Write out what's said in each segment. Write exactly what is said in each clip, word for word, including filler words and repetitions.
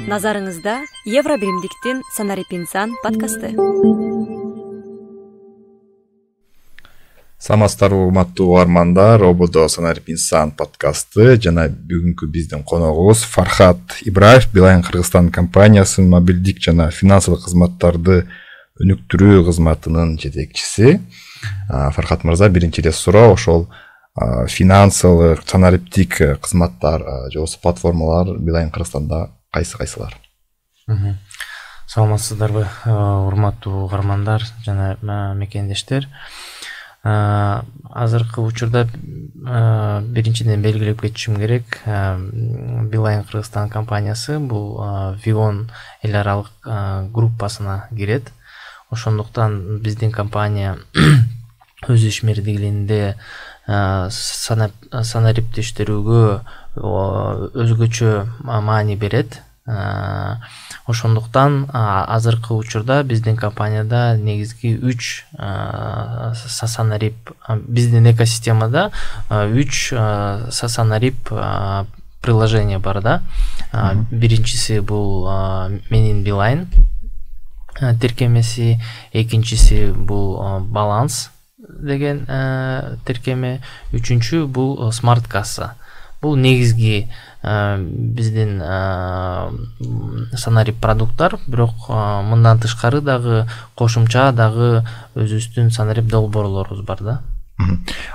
Назарыңызда Евро биримдиктин Санарип инсан подкасты. Саламатсыздарбы урматтуу угармандар, Ободо Санарип инсан подкасты жана бүгүнкү биздин коногубуз Фархат Ибраев, Билайн Кыргызстан компаниясынын мобилдик жана финансылык кызматтарды өнүктүрүү кызматынын жетекчиси. Фархат мырза, биринчи эле суроо ошол финансылык, санариптик кызматтар же болбосо платформалар Билайн Кыргызстанда кайсы кайсылар? Саламатсыздарбы урматтуу угармандар жана мекендештер. Азыркы учурда биринчиден белгилеп кетишим керек, Билайн Кыргызстан компаниясы бул Вион эл аралык группасына кирет. Ошондуктан биздин компания өз ишмердигинде санариптештирүүгө өзгөчө маани берет. Ошондуктан азыркы учурда биздин компанияда негизги үч санарип, биздин экосистемада үч санарип приложение бар да. Биринчиси бул менин Билайн тиркемеси, экинчиси бул баланс деген тиркеме, үчүнчү бул смарт касса. Бул негизги биздин санарип продукттар, бирок мындан тышкары дагы кошумча дагы өзүбүздүн санарип долбоорлорубуз бар да.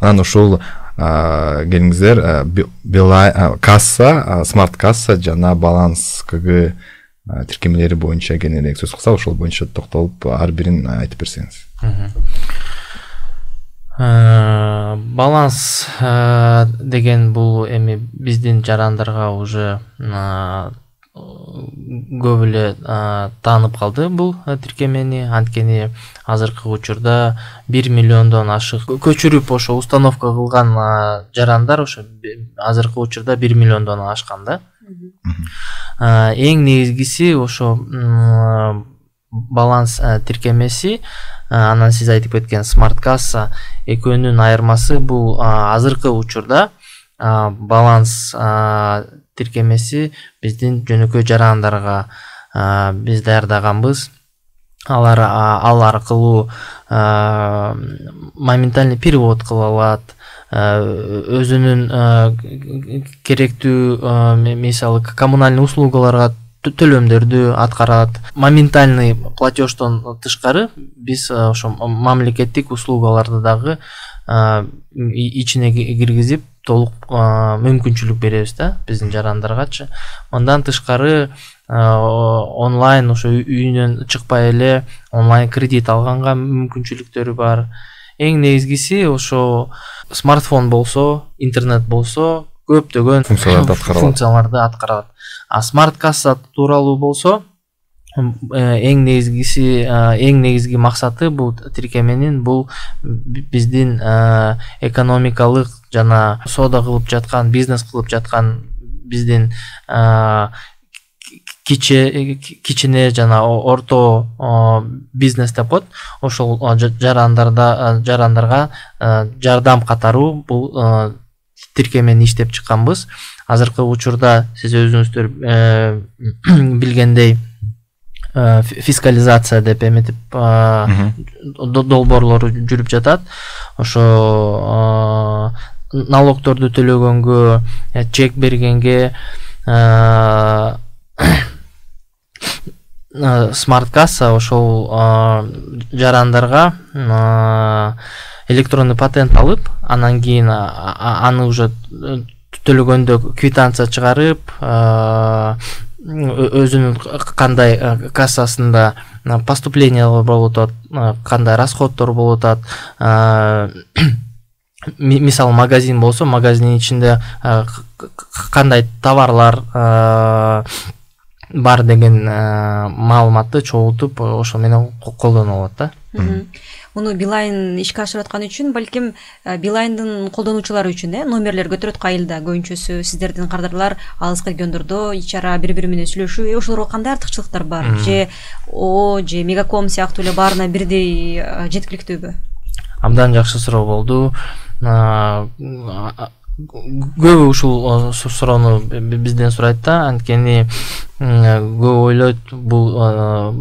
Анан ушул келиңиздер Билайн касса, смарт касса жана баланс КГ тиркемелери боюнча кененирээк сөз кылсак, ошол боюнча токтолуп ар бирин айтып берсеңиз. Баланс деген бул эми биздин жарандарга уже көп эле таанып калды бул тиркемени. Анткени азыркы учурда бир миллиондон ашык көчүрүп ошо установка кылган жарандар ошо азыркы учурда бир миллиондон ашкан да. Эң негизгиси ошо баланс тиркемеси, анан сиз айтып кеткен смарт касса, экөөнүн айырмасы бул азыркы учурда баланс тиркемеси биздин жөнөкөй жарандарга биз даярдаганбыз. Алар ал аркылуу моментальный перевод кыла алат, өзүнүн керектүү мисалы коммунальный услугаларга төлөмдөрдү аткарат. Моментальный платеждон тышкары биз ошо мамлекеттик услугаларды дагы ичине киргизип толук мүмкүнчүлүк беребиз да биздин жарандаргачы. Мындан тышкары онлайн ошо үйүнөн чыкпай эле онлайн кредит алганга мүмкүнчүлүктөрү бар. Эң негизгиси ошо смартфон болсо, интернет болсо көптөгөн функцияларды аткарат. А смарт касса тууралуу болсо, эң негизгиси, эң негизги максаты бул тиркеменин бул биздин экономикалык жана соода кылып жаткан, бизнес кылып жаткан биздин кичине жана орто бизнес деп коет. Ошол жарандарда жарандарга жардам катаруу бул тиркемени иштеп чыкканбыз. Азыркы учурда сиз өзүңүздөр билгендей фискализация деп эметип долбоорлору жүрүп жатат. Ошо налогторду төлөгөнгө, чек бергенге смарт касса ошол жарандарга электронный патент алып, анан кийин аны уже төлөгөндө квитанция чыгарып, өзүнүн кандай кассасында поступлениялар болуп атат, кандай расходдор болуп атат. Мисалы магазин болсо, магазиндин ичинде кандай товарлар бар деген маалыматты чогултуп ошо менен колдонулат да. Муну Билайн ишке ашырып аткан үчүн, балким Билайндын колдонуучулары үчүн э номерлер көтөрөт кайылда. Көбүнчөсү сиздердин кардарлар алыска региондордо ичара бири бири менен сүйлөшүү, ошолорго кандай артыкчылыктар бар? Же О, же Мегаком сыяктуу эле баарына бирдей жеткиликтүүбү? Абдан жакшы суроо болду. көбү ушул суроону бизден сурайт да, анткени көп ойлойт бул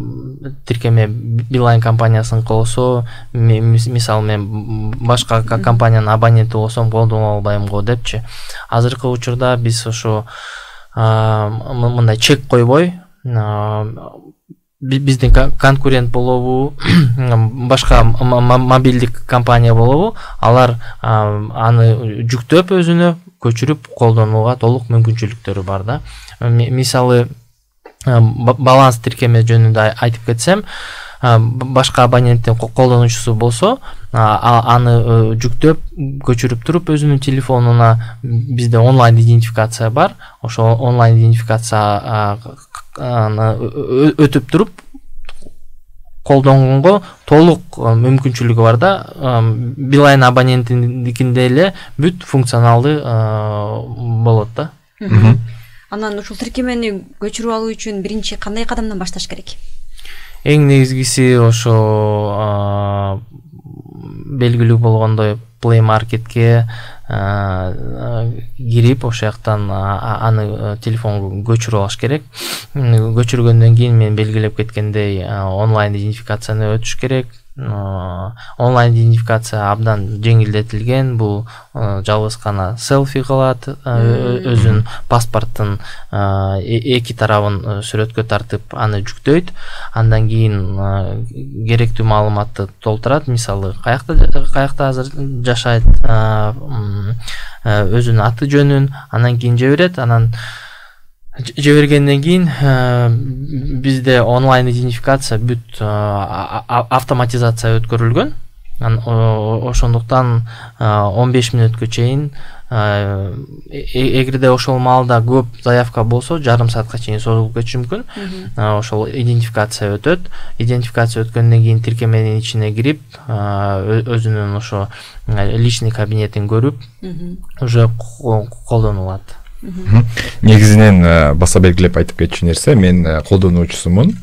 тиркеме Билайн компаниясынын болсо, мисалы мен башка компаниянын абоненти болсом колдоно албайм го депчи. Азыркы учурда биз ошо мындай чек койбой, биздин конкурент болобу, башка мобилдик компания болобу, алар аны жүктөп өзүнө көчүрүп колдонууга толук мүмкүнчүлүктөрү бар да. Мисалы баланс тиркеме жөнүндө айтып кетсем, башка абоненттин колдонуучусу болсо, аны жүктөп көчүрүп туруп өзүнүн телефонуна бизде онлайн идентификация бар. Ошо онлайн идентификация өтүп туруп колдонгонго толук мүмкүнчүлүгү бар да. Билайн абонентиндикинде эле бүт функционалдуу болот да. Анан ушул тиркемени көчүрүп алуу үчүн биринчи кандай кадамдан башташ керек? Эң негизгиси ошо белгилүү болгондой Play Marketке кирип, ошол жактан аны телефонго көчүрүп алыш керек. Көчүргөндөн кийин мен белгилеп кеткендей онлайн идентификацияны өтүш керек. Онлайн идентификация абдан жеңилдетилген. Бул жалгыз гана селфи кылат, өзүнүн паспорттун эки тарабын сүрөткө тартып аны жүктөйт. Андан кийин керектүү маалыматты толтурат. Мисалы, каякта каякта азыр жашайт, өзүнүн аты жөнүн, анан кийин жиберет. Анан жибергенден кийин бизде онлайн идентификация бүт автоматизация өткөрүлгөн. Ошондуктан он беш мүнөткө чейин, эгерде ошол маалда көп заявка болсо, жарым саатка чейин созулуп кетиши мүмкүн. Ошол идентификация өтөт. Идентификация өткөндөн кийин тиркеменин ичине кирип, өзүнүн ошо личный кабинетин көрүп, уже колдонулат. Негизинен баса белгилеп айтып кетчү нерсе, мен колдонуучусумун.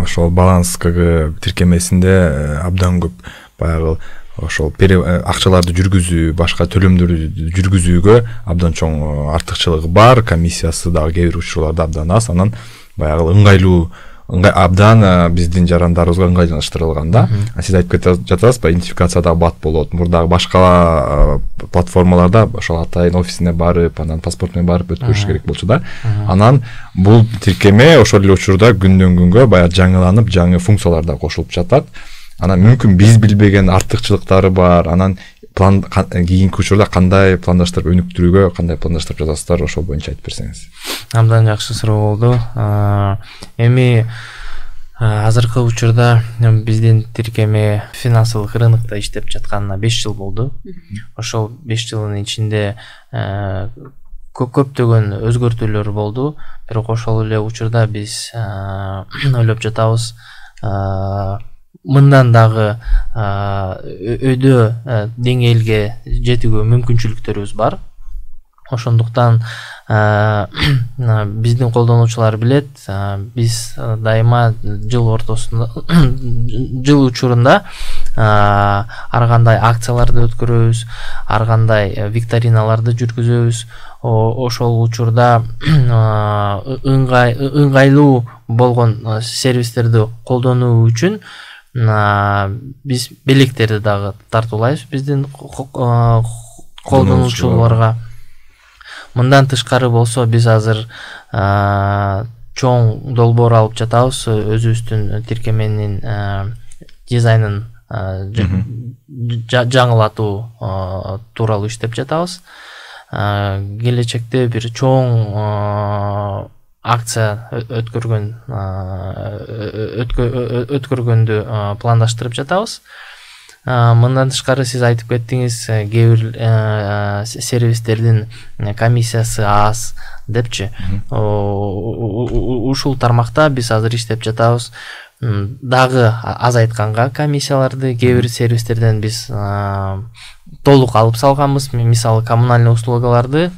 Ошол баланс КГ тиркемесинде абдан көп баягы ошол акчаларды жүргүзүү, башка төлөмдөрдү жүргүзүүгө абдан чоң артыкчылыгы бар. Комиссиясы дагы кээ бир учурларда абдан аз. Анан баягы ыңгайлуу, абдан биздин жарандарыбызга ыңгайлаштырылган да. Сиз айтып кетип жатасызбы, идентификацияда бат болот. Мурдагы башка платформаларда ошол атайын офисине барып, анан паспорт менен барып өткөрүш керек болчу да. Анан бул тиркеме ошол эле учурда күндөн күнгө баягы жаңыланып, жаңы функциялар да кошулуп жатат. Анан мүмкүн биз билбеген артыкчылыктары бар. Анан план кийинки учурда кандай пландаштырып өнүктүрүүгө, кандай пландаштырып жатасыздар, ошол боюнча айтып берсеңиз. Абдан жакшы суроо болду. Эми азыркы учурда биздин тиркеме финансылык рынокто иштеп жатканына беш жыл болду. Ошол беш жылдын ичинде көптөгөн өзгөртүүлөр болду. Бирок ошол эле учурда биз ойлоп жатабыз, мындан дагы өйдө деңгээлге жетүүгө мүмкүнчүлүктөрүбүз бар. Ошондуктан биздин колдонуучулар билет, биз дайыма жыл ортосунда, жыл учурунда ар кандай акцияларды өткөрөбүз, ар кандай викториналарды жүргүзөбүз. Ошол учурда ыңгайлуу болгон сервистерди колдонуу үчүн биз белектерди дагы тартуулайбыз биздин колдонуучуларга. Мындан тышкары болсо, биз азыр чоң долбоор алып жатабыз. Өзүбүздүн тиркеменин дизайнын жаңылатуу тууралуу иштеп жатабыз. Келечекте бир чоң акция өткөргөн өткөргөндү пландаштырып жатабыз. Мындан тышкары сиз айтып кеттиңиз, кээ бир сервистердин комиссиясы аз депчи. Ушул тармакта биз азыр иштеп жатабыз. Дагы азайтканга комиссияларды кээ бир сервистерден биз толук алып салганбыз. Мисалы, коммунальный услугаларды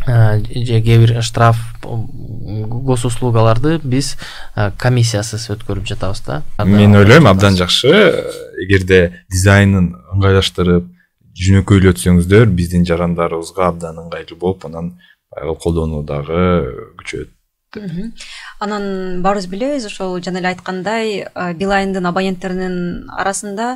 же кээ бир штраф госуслугаларды биз комиссиясыз өткөрүп жатабыз да. Мен ойлойм абдан жакшы. Эгерде дизайнын ыңгайлаштырып, жөнөкөйлөтсөңүздөр биздин жарандарыбызга абдан ыңгайлуу болуп, анан баягы колдонуу дагы күчөйөт. Анан баарыбыз билебиз, ошол жана эле айткандай, Билайндын абоненттеринин арасында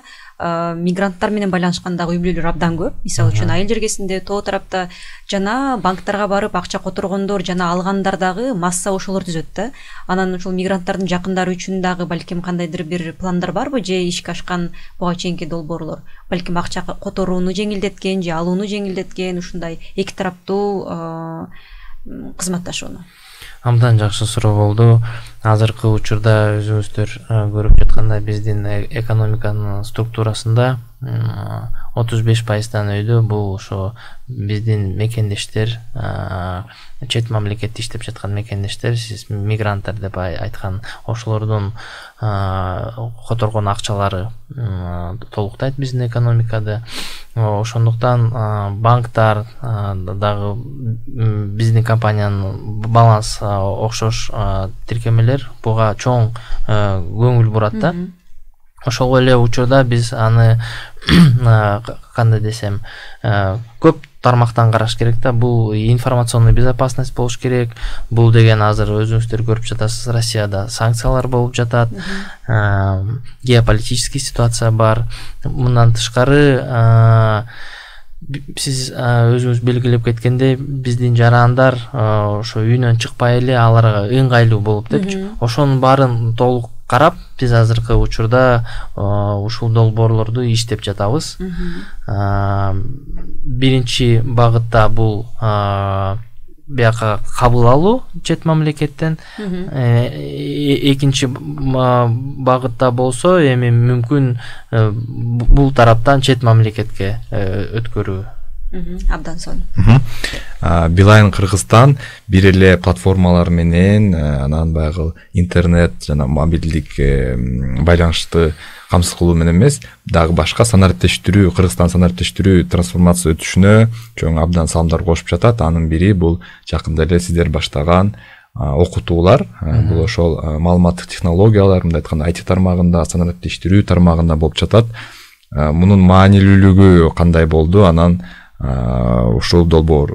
мигранттар менен байланышкандагы үй бүлөлөр абдан көп. Мисалы үчүн айыл жергесинде, тоо тарапта жана банктарга барып акча которгондор жана алгандар дагы масса ошолор түзөт да. Анан ушул мигранттардын жакындары үчүн дагы балким кандайдыр бир пландар барбы, же ишке ашкан буга чейинки долбоорлор балким акча которууну жеңилдеткен же алууну жеңилдеткен ушундай эки тараптуу кызматташууну? Абдан жакшы суроо болду. Азыркы учурда өзүңүздөр көрүп жаткандай биздин экономиканын структурасында отуз беш пайыздан өйдө бул ошо биздин мекендештер, чет мамлекетте иштеп жаткан мекендештер, сиз мигранттар деп айткан ошолордун которгон акчалары толуктайт биздин экономикада. Ошондуктан банктар дагы биздин компаниянын баланс окшош тиркемелер буга чоң көңүл бурат да. Ошол эле учурда биз аны кандай десем, көп тармактан караш керек да. Бул информационный безопасность болуш керек. Бул деген азыр өзүңүздөр көрүп жатасыз, Россияда санкциялар болуп жатат. Геополитический ситуация бар. Мындан тышкары сиз өзүңүз белгилеп кеткендей, биздин жарандар ошо үйүнөн чыкпай эле аларга ыңгайлуу болуп депчи. Ошонун баарын толук карап, биз азыркы учурда ушул долбоорлорду иштеп жатабыз. Биринчи багытта бул бияка кабыл алуу чет мамлекеттен, экинчи багытта болсо эми мүмкүн бул тараптан чет мамлекетке өткөрүү. Абдан сонун. Билайн Кыргызстан бир эле платформалар менен анан баягы интернет жана мобилдик байланышты камсыз кылуу менен эмес, дагы башка санариптештирүү, Кыргызстан санариптештирүү трансформация өтүшүнө чоң абдан салымдар кошуп жатат. Анын бири бул жакында эле сиздер баштаган окутуулар. Бул ошол маалыматтык технологиялар, мындай айтканда ай ти тармагында, санариптештирүү тармагында болуп жатат. Мунун маанилүүлүгү кандай болду? Анан ушул долбоор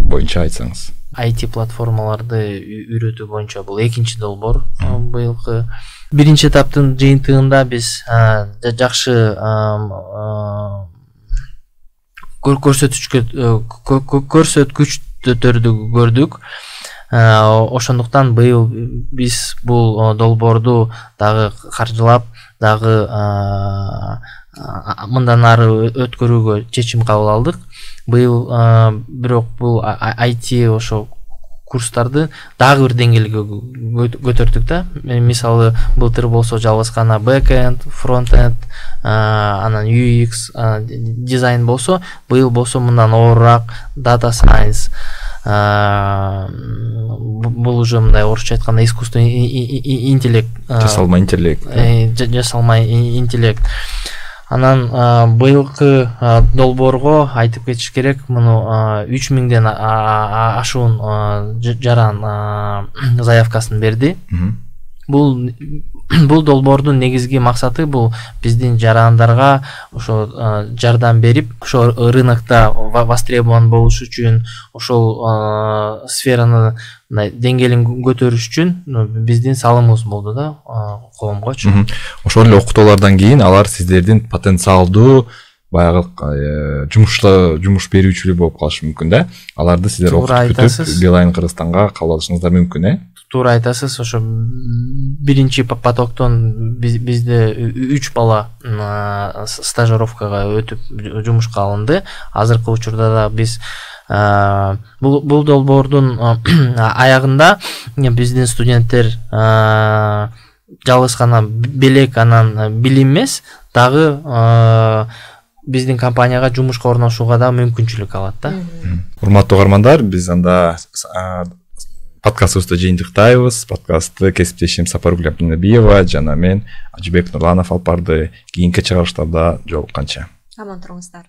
боюнча айтсаңыз. ай ти платформаларды үйрөтүү боюнча бул экинчи долбоор быйылкы. Биринчи этаптын жыйынтыгында биз жакшы көрсөткүчтөрдү көрдүк. Ошондуктан быйыл биз бул долбоорду дагы каржылап, дагы мындан ары өткөрүүгө чечим кабыл алдык. Быйыл бирок бул ай ти ошо курстарды дагы бир деңгээлге көтөрдүк да. Мисалы былтыр болсо жалгыз гана бэкэнд, фронтенд, анан ю экс дизайн болсо, быйыл болсо мындан оорураак data science, бул уже мындай орусча айтканда искусственный интеллект, жасалма интеллект, жасалма интеллект. Анан быйылкы долбоорго айтып кетиш керек, муну үч миңден ашуун жаран заявкасын берди. Бул бул долбоордун негизги максаты бул биздин жарандарга ошо жардам берип, ошо рынокто востребован болуш үчүн, ошол сфераны деңгээлин көтөрүш үчүн биздин салымыбыз болду да коомгочу. Ошол эле окутуулардан кийин алар сиздердин потенциалдуу баягы жумушта жумуш берүүчүлөр болуп калышы мүмкүн да. Аларды сиздер окутуп бүтүп Билайн Кыргызстанга кабыл алышыңыздар мүмкүн, э? Туура айтасыз. Ошо биринчи потоктон бизде үч бала стажировкага өтүп жумушка алынды. Азыркы учурда да биз бул бул долбоордун аягында биздин студенттер жалгыз гана белек анан билим эмес, дагы биздин компанияга жумушка орношууга да мүмкүнчүлүк алат да. Урматтуу угармандар, биз анда подкастыбызды жыйынтыктайбыз. Подкастты кесиптешим Сапаргүл Абдинабиева жана мен Ажыбек Нурланов алып барды. Кийинки чыгарыштарда жолукканча. Аман туруңуздар.